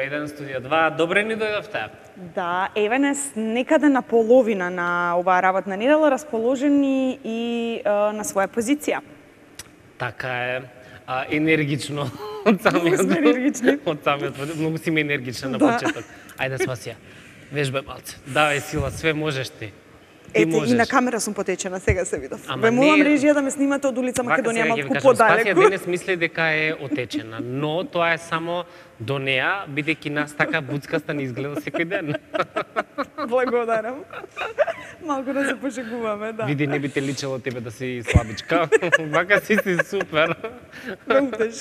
1, студио 2. Добре ни дојдовте. Да, еве нас некаде на половина на оваа работна недела расположени и на своја позиција. Така е. Енергично од самиот многу си енергична на почеток. Ајде Спасија, вежбај малце. Давај сила, све можеш ти. Ете, и на камера сум потечена, сега се видов. Ве молам режија да ме снимате од улица Македонија малку подалеку. Спасија денес мисли дека е отечена, но тоа е само до неа, бидејќи нас така буцкаста не изгледа секој ден. Благодарам. Малку да се пошегуваме, да. Види, не би те личело тебе да си слабичка. Вака си супер. Ме утеш.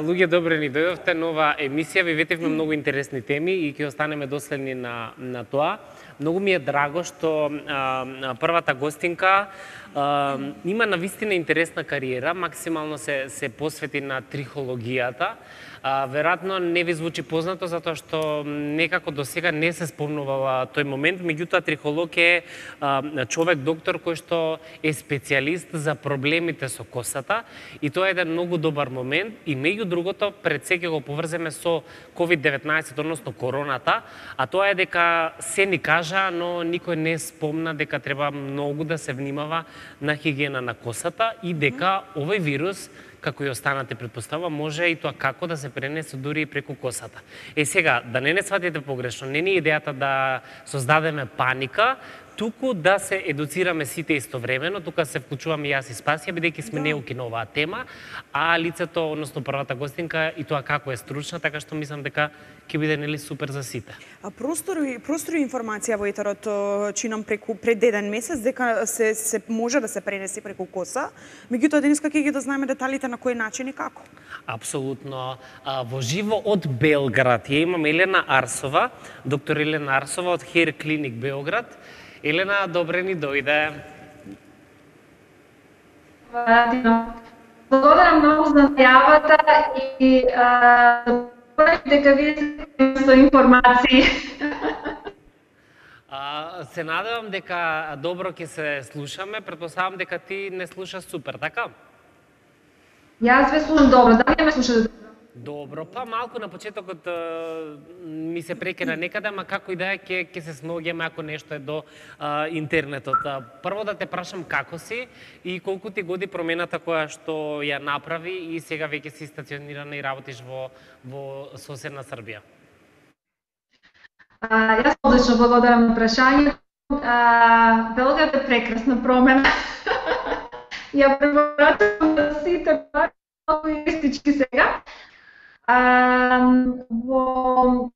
Луѓе, добре ни дојдовте, нова емисија, ви ветивме многу интересни теми и ќе останеме доследни на тоа. Многу ми е драго што првата гостинка има навистина интересна кариера, максимално се посвети на трихологијата. Веројатно не ви звучи познато затоа што некако до сега не се спомнувала тој момент, меѓутоа трихолог е човек доктор кој што е специјалист за проблемите со косата и тоа е еден многу добар момент и меѓу другото пред се ќе го поврземе со COVID-19, односно короната, а тоа е дека се ни кажа, но никој не спомна дека треба многу да се внимава на хигиена на косата и дека овој вирус, како и останате претпоставува, може и тоа како да се пренесе дури и преку косата. Сега, да не сватите погрешно, не ни идејата да создадеме паника, туку да се едуцираме сите истовремено, тука се вклучуваме и јас и Спасија, бидејќи сме неуки на оваа тема, а лицето, односно првата гостинка, и тоа како е стручна, така што мислам дека ќе биде нели супер за сите. А простори информација во етерот чинам пред еден месец дека се може да се пренеси преку коса, меѓутоа денеска ќе ги дознаеме деталите на кој начин и како. Апсолутно. Во живо од Белград ја имам Елена Арсова, доктор Елена Арсова од Hair Clinic Белград. Елена, добре ни дојде. Благодарам многу за најавата и дека вие сте со информации. Се надевам дека добро ќе се слушаме, претпоставам дека ти не слушаш супер, така? Јас ве слушам добро, дали ме слушате? Добро, па малку на почетокот ми се прекина некаде, ама како и да е, ќе се снаоѓаме ако нешто е до интернетот. Прво да те прашам како си и колку ти годи промената која што ја направи и сега веќе си стационирана и работиш во соседна Србија. Јас одлично благодарам на прашањето. Белград е прекрасна промена. Ја препорачувам на сите, малку истички сега. Во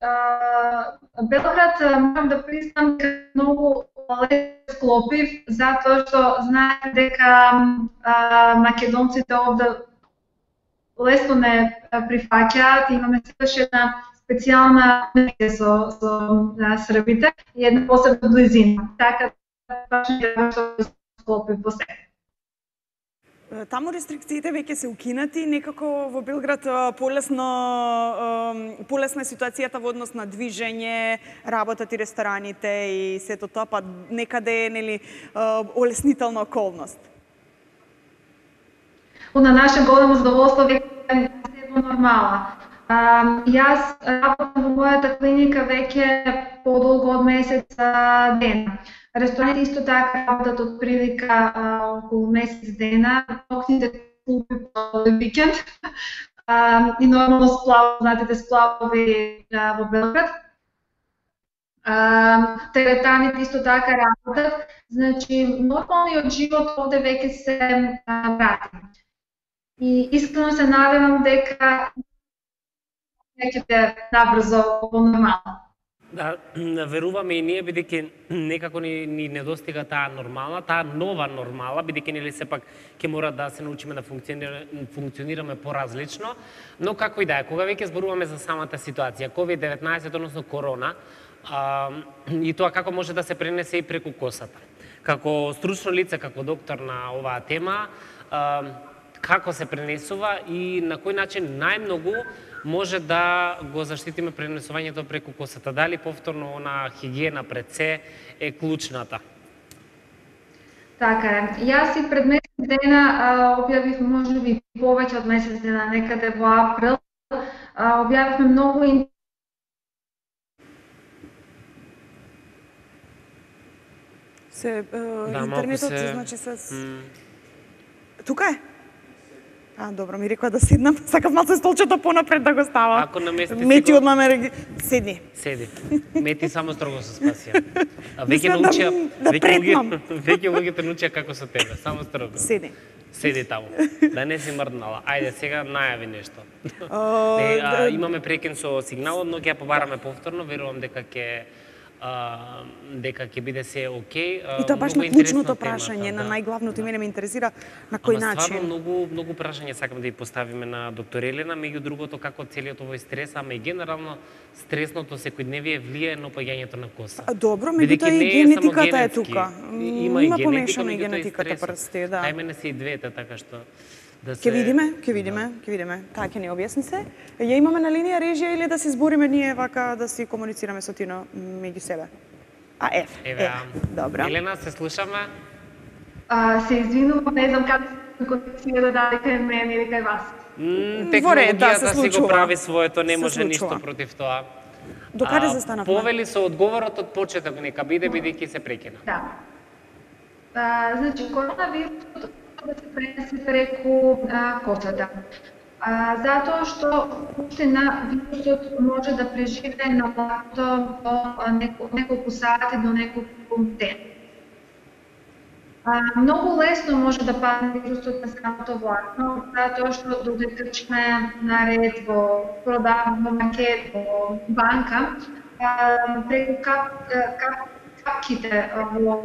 Белград морам да признам дека многу лесно склопив, затоа што знаете дека македонците овде лесно не прифаќаат, имаме сепаш една специјална со србите и една посебна близина. Така баш не што склопив во себе. Таму рестрикциите веќе се укинати, некако во Белград полесна е ситуацијата во однос на движење, работат и рестораните и сето тоа, па некаде е нели олеснителна околност. На наше големо задоволство веќе е нормала. Јас работам во мојата клиника веќе подолго од месец дена. Рестораните исто така работат од прилика околу месец дена, ноќните клуби по викенд и нормално знаете сплавови во Белград. Теретаните исто така работат, значи нормалниот живот овде веќе се врати. И искрено се надевам дека ќе биде набрзо во нормално. Да, веруваме и ние, бидејќи некако ни недостига таа нормална, таа нова нормала, бидејќи нели сепак ќе мора да се научиме да функционираме поразлично, но како и да е, кога веќе зборуваме за самата ситуација, COVID-19, односно корона, и тоа како може да се пренесе и преку косата. Како стручно лице, како доктор на оваа тема, како се пренесува и на кој начин најмногу може да го заштитиме пренесувањето преку косата. Дали повторно она хигиена пред се е клучната? Така е. Јас и пред месец дена објавив, можеби повеќе од месец дена, некаде во април, Објавивме многу интернетот се значи се тука е. Добро, ми рекоа да седнам, сакав малце столчето понапред да го ставам. Ако намести Мети одма ме седни. Седи. Мети само строго се спасија. Веќе научија, веќе луѓето научија како со тебе, само строго. Седни. Седи таму. Да не си мрднала. Ајде сега најави нешто. Имаме прекин со сигналот, но ќе ја побараме повторно, верувам дека ќе биде се окей. И тоа баш на клучното прашање, на најглавното мене ме интересира на кој начин. Стварно многу прашања сакам да ја поставиме на доктор Елена, меѓу другото како целиот овој стрес, ама и генерално стресното секојдневие влијае на опаѓањето на коса. Добро, меѓутоа и генетиката е тука. Има помешано и генетиката прсти, да. Ај мене се и двете, така што Ќе видиме. Таа ќе ни објасни се. Ја имаме на линија режија или да се збориме ние вака да си комуницираме со Тино меѓу себе? Добро. Елена, се слушаме? Се извинувам, не знам како конекција да даде кај мене или кај вас. Технологијата си го прави своето, не може ништо против тоа. До каде застанавме? Повели со одговорот од почеток, нека биде бидејќи се прекина. Да. Значи, коронавирусот да се пренесе преку косата. Затоа што уштина вирусот може да преживее на влакното до неколку сати, до неколку ден. Многу лесно може да падне вирусот на самото влакно, затоа што додека сме наред во продавна, во маркет, во банка, преку капките во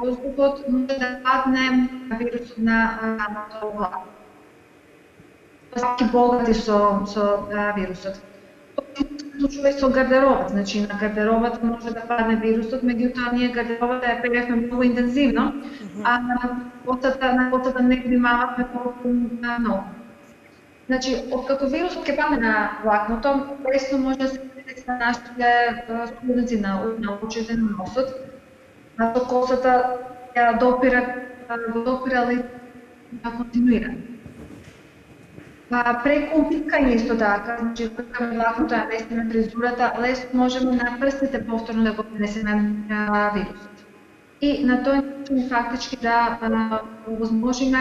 воздухот може да падне вирусот на самото влакно. Саки богати со вирусот. Случува и со гардеробот, значи на гардеробот може да падне вирусот, меѓутоа ние гардеробата ја перевме многу интензивно, а на потата не внимававме толку многу. Значи, откако вирусот ќе падне на влакното, лесно може да се пренесе на нашите студници на очите, на носот, со косата ја допира континуирано. Преку пипкање исто така, значи пипкаме влакното, ја местиме фризурата, лесно можеме на прстите повторно да го пренесеме вирусот. И на тој начин фактички да овозможиме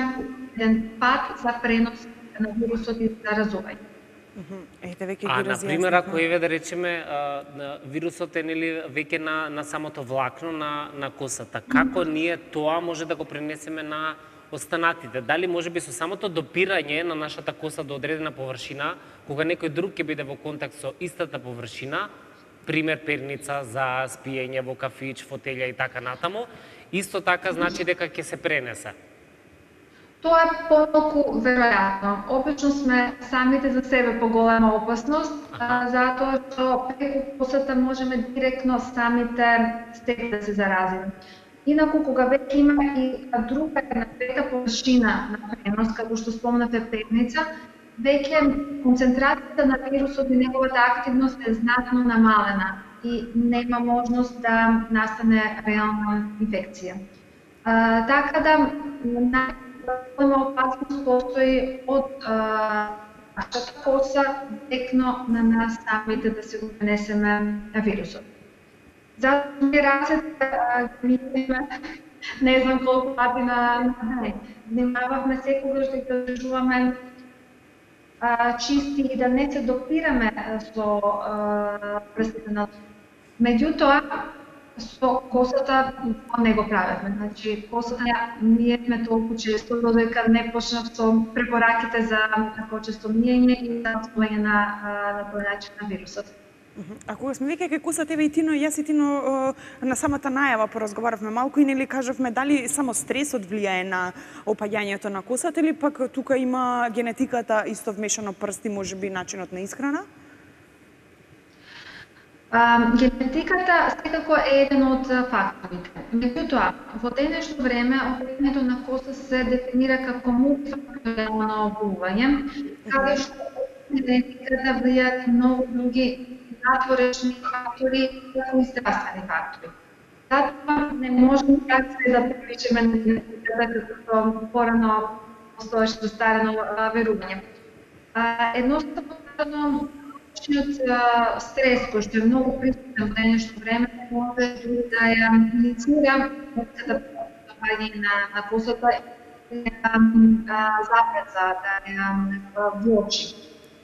еден пат за пренос на вирусот и заразување. Например, ако еве да речеме вирусот е нели веќе на самото влакно на косата, како ние тоа може да го пренесеме на останатите? Дали можеби со самото допирање на нашата коса до одредена површина, кога некој друг ќе биде во контакт со истата површина, пример перница за спиење во кафич, фотелја и така натаму, исто така значи дека ќе се пренесе? Тоа е помалку веројатно. Обично сме самите за себе поголема опасност, затоа што преку косата можеме директно самите себе да се заразиме. Инаку, кога веќе има и друга една трета површина на пренос, како што спомнате перница, веќе концентрацијата на вирусот и неговата активност е знатно намалена и нема можност да настане реална инфекција. Така да, најголема опасност постои од нашата коса директно на нас самите да се го пренесеме вирусот. Затоа ми рацете не знам колку пати на ден. Внимававме секогаш да ги држуваме чисти и да не се допираме со прстите на. Меѓутоа, со косата не го правевме. Значи, косата ние сме толку често, додека не почнав со препораките за почесто миење и за отвојање на тој начин на вирусот. А кога сме веќе кај коса тебе и Тино, јас и Тино на самата најава поразговаравме малку и нели кажавме дали само стресот влијае на опаѓањето на косата или пак тука има генетиката исто вмешано, прсти, можеби начинот на исхрана? Генетиката секако е еден од факторите. Меѓутоа, во денешно време опаѓањето на коса се дефинира како мултифакторијално оболување, каде што генетиката влијаат многу други натворечни фактори, како и здравствени фактори. Затоа не можеме така се да приличиме на генетиката како порано постоеше застарено верување. Едноставно стрес кој што е многу присутен во денешно време може дури да ја иницира допаѓање на косата запрeza, да ја влочи.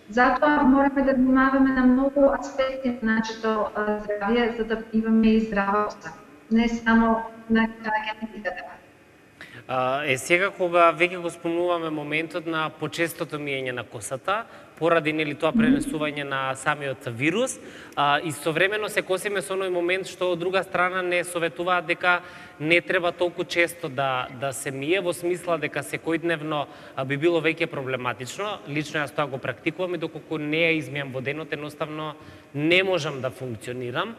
Затоа мораме да внимаваме на многу аспекти на нашето здравје за да имаме и здрава коса, не само на генетиката. Сега кога веќе го спомнуваме моментот на почестото миење на косата, поради нели тоа пренесување на самиот вирус, истовремено се косиме со оној момент што од друга страна не советуваат дека не треба толку често да се мие, во смисла дека секојдневно би било веќе проблематично. Лично јас тоа го практикувам и доколку не ја измијам во денот, едноставно не можам да функционирам.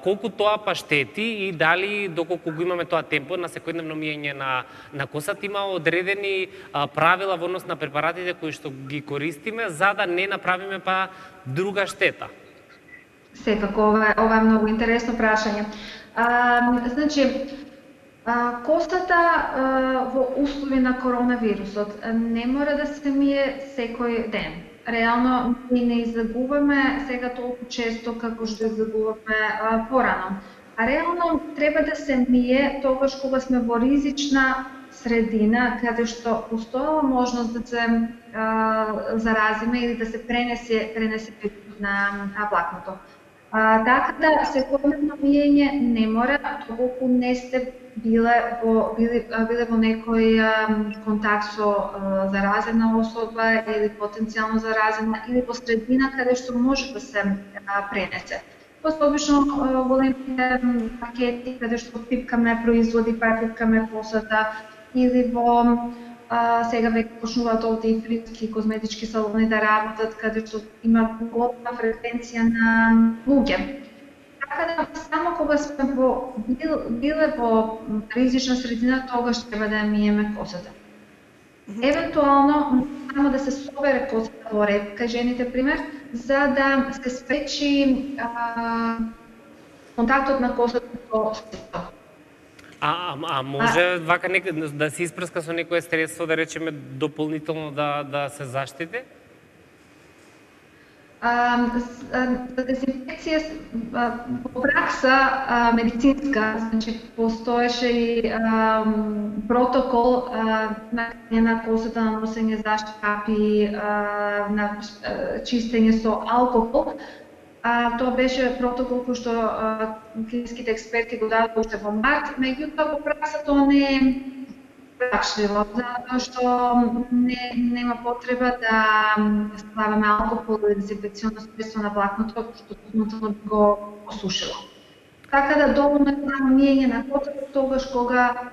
Колку тоа па штети и дали доколку го имаме тоа темпо на секојдневно миење на косата, има одредени правила во однос на препаратите кои што ги користиме за да не направиме па друга штета? Секако, ова е многу интересно прашање. Значи, косата во услови на коронавирусот не мора да се мие секој ден. Реално, ние не излагуваме сега толку често како што излагуваме порано. А реално треба да се мие тогаш кога сме во ризична средина, каде што постојала можност да се заразиме или да се пренесе на влакното. Така да секојдневно миење не мора, доколку не сте биле во некој контакт со заразена особа или потенцијално заразена или во средина каде што може да се пренесе. Обично големите пакети каде што пипкаме производи, пипкаме косата или во сега веќе почнуваат овде и фризки козметички салони да работат каде што има голема фреквенција на луѓе. Така да само кога сме биле во ризична средина, тогаш треба да ја миеме косата. Евентуално само да се собере косата во ред, кај жените пример, за да се спречи контактот на косата со средство. Може вака да се испрска со некое средство, да речеме дополнително да се заштити? За дезинфекција во пракса медицинска, значи постоеше и протокол на косата, на носење заштитни капи, на чистење со алкохол. Тоа беше протокол кој што клинските експерти го дадоа уште во март, меѓутоа во пракса тоа не е прашливо, затоа што нема потреба да ставаме алкохол или дезинфекционно средство на влакното, што дополнително би го осушило. Така да доволно е само миење на косата тогаш кога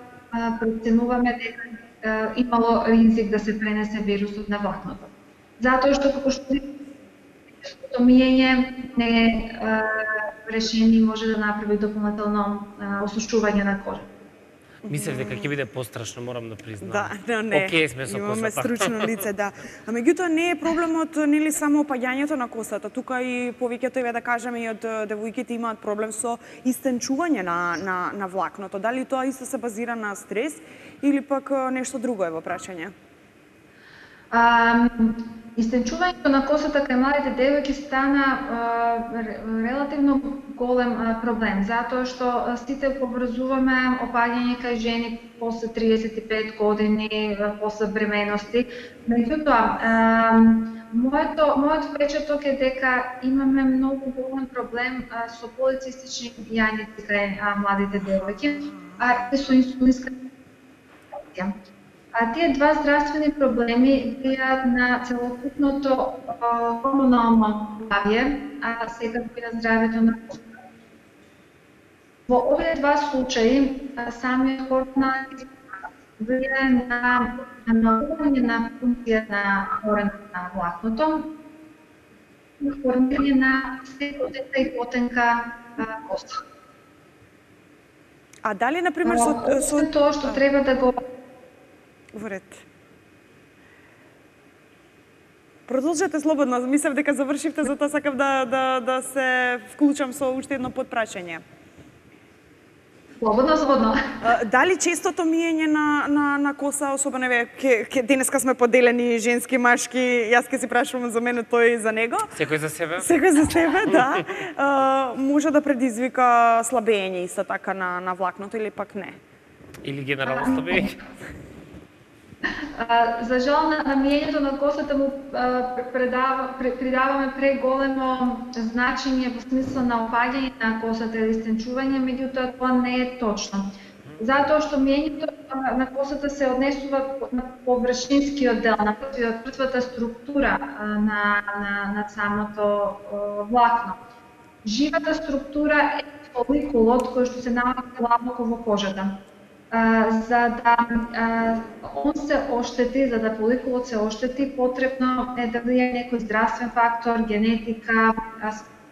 преценуваме дека имало ризик да се пренесе вирусот на влакното. Затоа што како што миење не решение може да направи дополнително осушување на кожата. Мислев дека ќе биде пострашно, морам да признам. Да, не. Океј сме со имаме косата. стручно лице, да. А меѓутоа не е проблемот нели само опаѓањето на косата. Тука и повеќето еве да кажеме и од девојките имаат проблем со истенчување на влакното. Дали тоа исто се базира на стрес или пак нешто друго е во прашање? Истенчувањето на косата кај младите девојки стана релативно голем проблем, затоа што сите поврзуваме опаѓање кај жени после 35 години, после бременности. Меѓутоа, мојот впечаток е дека имаме многу голем проблем со полицистични јањици кај младите девојки, и со инсулинска резистенција. Тие два здравствени проблеми влијаат на целокупното хормонално здравје, а секако и на здравјето на косата. Во овие два случаи, самиот хормонален влијае на намалување на функција на коренот на влакното, и формирање на се потенка и потенка коса. А дали, например, со тоа што треба да го во ред. Продолжете слободно, мислев дека завршивте, затоа сакав да се вклучам со уште едно подпрашање. Слободно. Дали честото миење на коса, особено денеска сме поделени женски, машки, јас ќе си прашувам за мене, тој за него. Секој за себе? Секој за себе, да. Може да предизвика слабење исто така на влакното или пак не? Или генерално слабење? За жал на миењето на косата му придаваме преголемо значење во смисла на опаѓање на косата или стенчување, меѓутоа тоа не е точно. Затоа што миењето на косата се однесува на површинскиот дел, на првата структура на самото влакно. Живата структура е фоликулот кој што се наоѓа длабоко во кожата. За да он се оштети, за да фоликулот се оштети, потребно е да влијае некој здравствен фактор, генетика,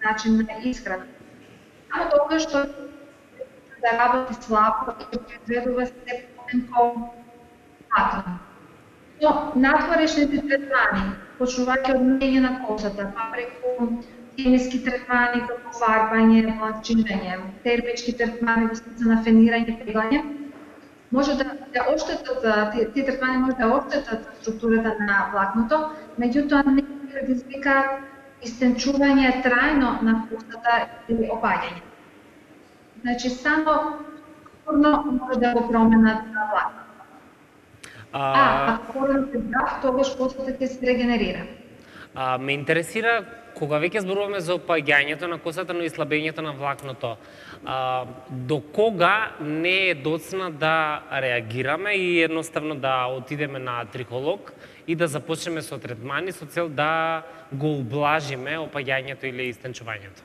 начин на исхрана. Само тогаш што да работи слабо и произведува се потенко влакно. Но надворешните третмани, почнувајќи од миење на косата, па преку хемиски третмани како фарбање, бланчирање, термички третмани во смисла на фенирање, пеглање, може да оштетат, тие третмани може да оштетат структурата на влакното, меѓутоа не предизвикаат истенчување трајно на косата или опаѓање. Значи, само може да го променат на влакното. Ако коrenот е здрав, тогаш косата ќе се регенерира. Ме интересира, кога веќе зборуваме за опаѓањето на косата, но и слабењето на влакното, до кога не е доцна да реагираме и едноставно да отидеме на трихолог и да започнеме со третмани со цел да го ублажиме опаѓањето или истенчувањето?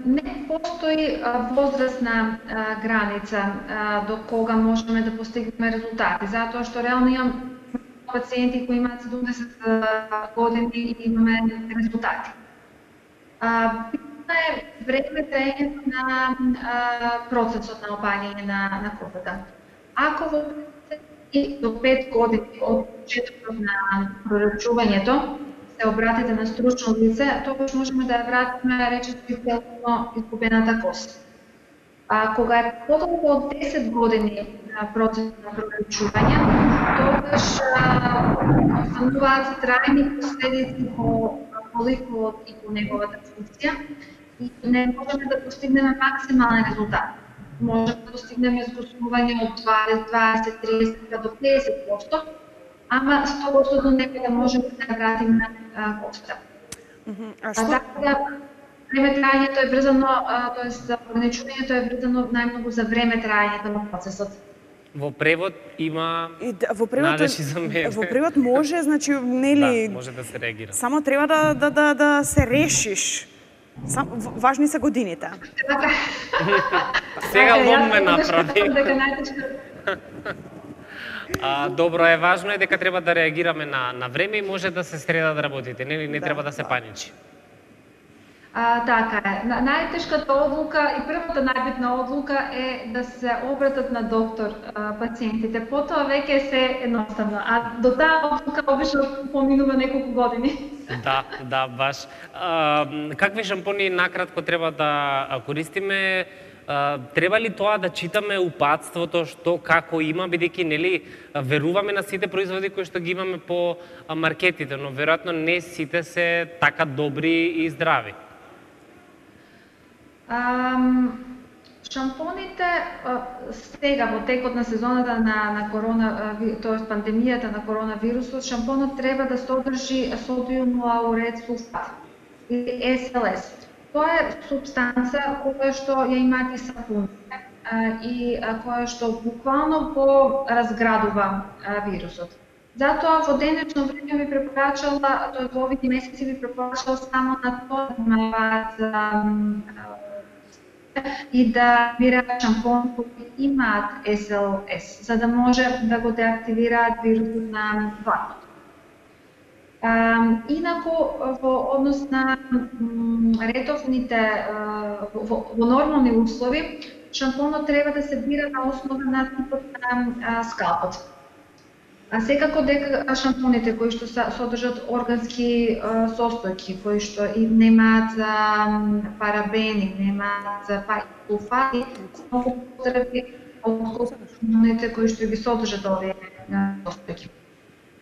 Не постои возрастна граница до кога можеме да постигнеме резултати, затоа што реално имам пациенти кои имаат 70 години и имаме резултати. Битно е време траењето на процесот на опаѓање на косата. Ако во до 5 години од почетокот на прорачувањето се обратите на стручно лице, тогаш можеме да ја вратиме речиси целосно изгубената коса. Кога е подолго од 10 години процесот на прорачување, тогаш остануваат трајни последици по фоликулот и по неговата функција и не можеме да постигнеме максимален резултат. Можеме да постигнеме згустување од 20, 30 до 50%, ама 100% некаде можеме да вратиме косата. Време траењето е врзано, тоест ограничувањето е врзано најмногу за време траењето на процесот. Во превод има надежи за мене. Во превод може, значи, нели... Да, може да се реагира. Само треба да се решиш. Важни се годините. Сега лом ме направи. Добро е, важно е дека треба да реагираме на време и може да се среда да работите, не треба да се паничи. Така е. Најтешката одлука и првата најбитна одлука е да се обратат на доктор пациентите. Потоа веќе се едноставно, а до таа одлука обично поминува неколку години. Да, баш. Какви шампони накратко треба да користиме? Треба ли тоа да читаме упатството што како има, бидејќи нели веруваме на сите производи кои што ги имаме по маркетите, но веројатно не сите се така добри и здрави. Шампоните сега во текот на сезоната на тоест пандемијата на коронавирусот, шампонот треба да содржи содиум лаурет сулфат или SLS. Тоа е супстанца која што ја имаат и сапуните и која што буквално го разградува вирусот. Затоа во денешно време ви препорачала, тоест во овие месеци ви препорачала само на тоа да имаат и да бираат шампон кои имаат SLS, за да може да го деактивираат вирусот на влакното. Инаку, во однос на ретовните, во нормални услови, шампонот треба да се бира на основа на типот на скалпот. А секако дека шампоните кои што содржат органски состојки, кои што и немаат парабени, немаат сулфати, многу потребни од шампоните кои што ги содржат овие состојки.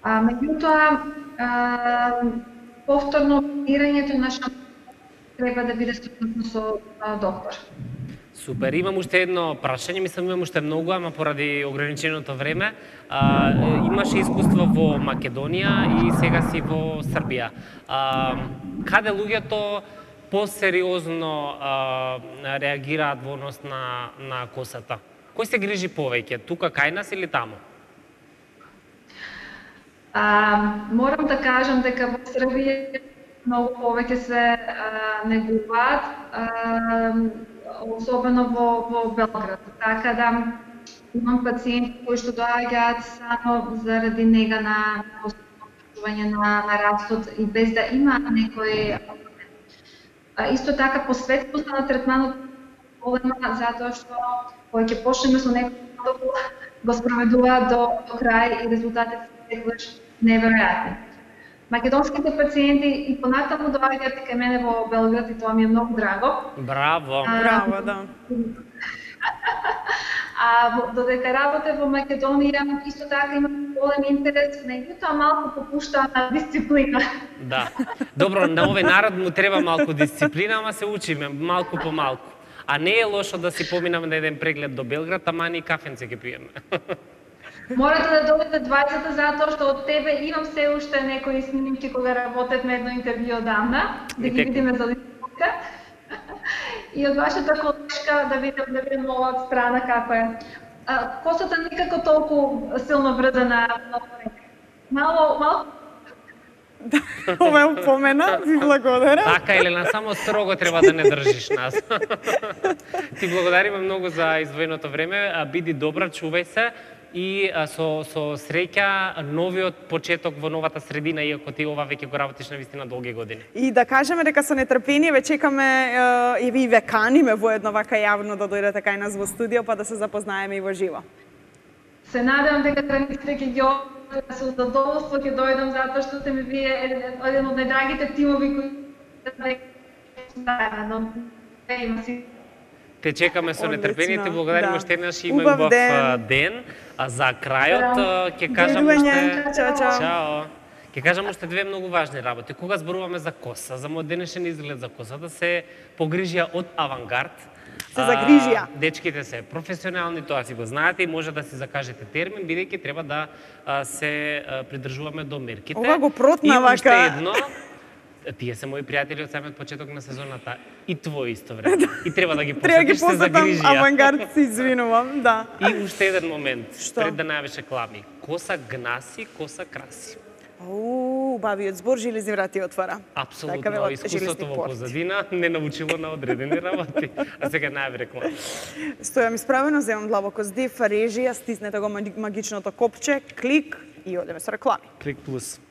Меѓутоа, повторно опирањето на шампоните треба да биде согласно со доктор. Супер, имам уште едно прашање, мислам имам уште многу, ама поради ограниченото време. Имаше искуство во Македонија и сега си во Србија. Каде луѓето посериозно реагираат во однос на косата? Кој се грижи повеќе, тука кај нас или таму? Морам да кажам дека во Србија многу повеќе се негуваат, особено во Белград. Така да имам пациенти кои што доаѓаат само заради нега на посветување на растот и без да има некој. Исто така посветеност на третманот голема затоа што кога ќе почнеме со некој го спроведуваат до крај и резултатите се секогаш неверојатни. Македонските пациенти и понатаму доаѓаат кај мене во Белград и тоа ми е многу драго. Браво! Браво, да. Додека работе во Македонија, исто така има голем интерес, меѓутоа малку попуштаа на дисциплина. Да. Добро, на овој народ му треба малку дисциплина, ама се учиме малку по малку. А не е лошо да си поминаме на еден преглед до Белград, ама ни кафенце ќе пиеме. Морате да дојдете двајцата затоа што од тебе имам се уште некои снимки кога работевме едно интервју одамна, да ги видиме за личноста. И од вашата колешка да видим оваа страна како е. Косата никако толку силно врзана. Мало. Ова е упомена, ви благодарам. Така, Елена, само строго треба да не држиш нас. Ти благодариме многу за издвоеното време, биди добра, чувај се. И со среќа новиот почеток во новата средина, иако ти ова веќе го работиш на вистина долги години. И да кажеме дека со нетрпение ве чекаме и ви каниме воедно вака јавно да дојдете кај нас во студио па да се запознаеме и во живо. Се надевам дека границите ќе ги отворите, со задоволство ќе дојдам затоа што сте ми вие еден од најдрагите тимови кои заедно има си. Те чекаме со нетрпение, ти благодариме уште еднаш и има Убав ден. А за крајот ќе кажам уште чао. Ќе кажам уште две многу важни работи. Кога зборуваме за коса, за модернешен изглед за косата, се погрижија од Авангард. Се загрижија. Дечките се професионални, тоа си го знаете и може да си закажете термин, бидејќи треба да се придржуваме до мерките. Ова го протна вака. И уште едно, тие се мои пријатели од самиот почеток на сезоната и твои исто време. И треба да ги посетиш, се загрижија. Авангард, се извинувам, да. И уште еден момент, Што? пред да најавиш реклами. Коса гнаси, коса краси. Бавиот збор, жилезни врати отвара. Апсолутно, искуството во позадина не научило на одредени работи. А сега најави реклами. Стојам исправено, земам длабоко здив, режија, стиснете го магичното копче, клик и одеме со реклами. Клик плюс.